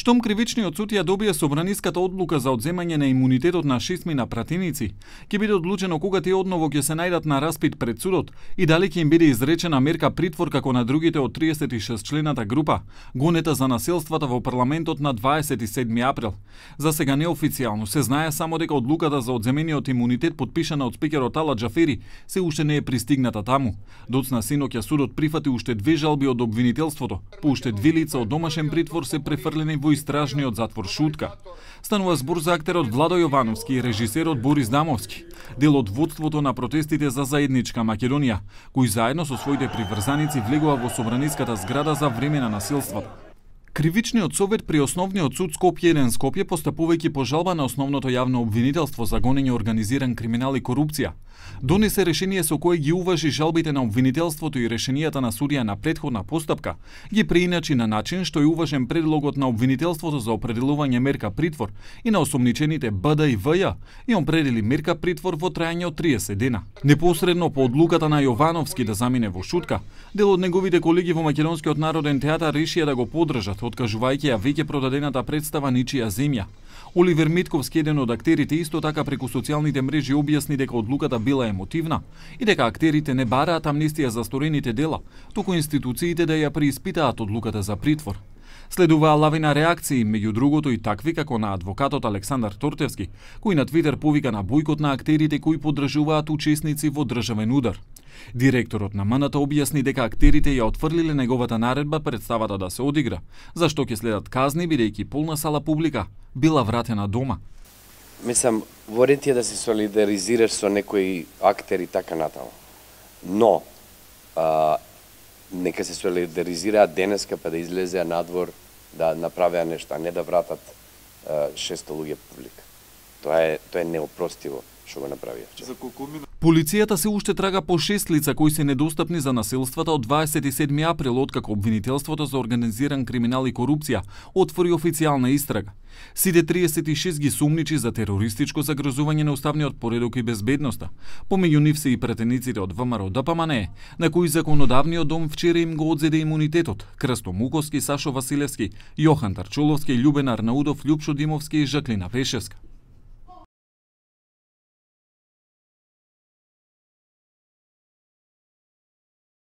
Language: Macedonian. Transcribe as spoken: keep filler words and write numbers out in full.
Штом кривичниот суд ја добие собраниската одлука за одземање на имунитетот на шестмина пратеници, ќе биде одлучено кога тие одново ќе се најдат на распит пред судот и дали ќе им биде изречена мерка притвор како на другите од триесет и шест члената група, гонета за насилствата во парламентот на дваесет и седми април. За сега неофицијално се знае само дека одлуката за одземениот имунитет подпишана од спикерот Ала Џафери се уште не е пристигната таму. Доцна синоќа судот прифати уште две жалби од обвинителството, по уште две лица од домашен притвор се префрлени во истражниот затвор Шутка. Станува збор за актерот Владо Јовановски и режисерот Борис Дамовски, дел од водството на протестите за заедничка Македонија, кои заедно со своите приврзаници влегува во собраниската зграда за време на насилството. Кривичниот совет при Основниот суд Скопје еден Скопје, постапувајќи по жалба на основното јавно обвинителство за гонење организиран криминал и корупција, донесе решение со кое ги уважи жалбите на обвинителството и решенијата на судија на претходна постапка, ги преиначи на начин што е уважен предлогот на обвинителството за определување мерка притвор и на осомничените Б Д и В Ј и он определи мерка притвор во трајање од триесет дена. Непосредно по одлуката на Јовановски да замине во Шутка, дел од неговите колеги во Македонскиот народен театар решија да го поддржат, откажувајќи ја веќе продадената представа Ничија земја. Оливер Митковски, еден од актерите, исто така преку социјалните мрежи објасни дека одлуката била емотивна и дека актерите не бараат амнестија за сторените дела, туку институциите да ја преиспитаат одлуката за притвор. Следуваа лавина реакции, меѓу другото и такви како на адвокатот Александар Тортевски, кој на Твитер повика на бојкот на актерите кои поддржуваат учесници во државен удар. Директорот на М Н Т објасни дека актерите ја отфрлиле неговата наредба представата да се одигра, зашто ќе следат казни бидејќи полна сала публика била вратена дома. Мислам, ворите е да се солидаризираш со некои актери така натаму. Но, а, нека се солидаризираат денеска па да излезеа надвор, да направеа нешта, не да вратат шесто луѓе публика. Тоа е, тоа е неопростиво што го направија. Полицијата се уште трага по шест лица кои се недостапни за насилствата од дваесет и седми април, откако обвинителството за организиран криминал и корупција отвори официјална истрага. Сите триесет и шест ги сумничи за терористичко загрозување на уставниот поредок и безбедноста. Помеѓу нив се и претениците од В М Р Д П М Н Е, на кои законодавниот дом вчера им го одзеде имунитетот: Крсто Муковски, Сашо Василевски, Јохан Тарчуловски, Љубен Арнаудов, Љупшо Димовски и Жаклина Пешевска.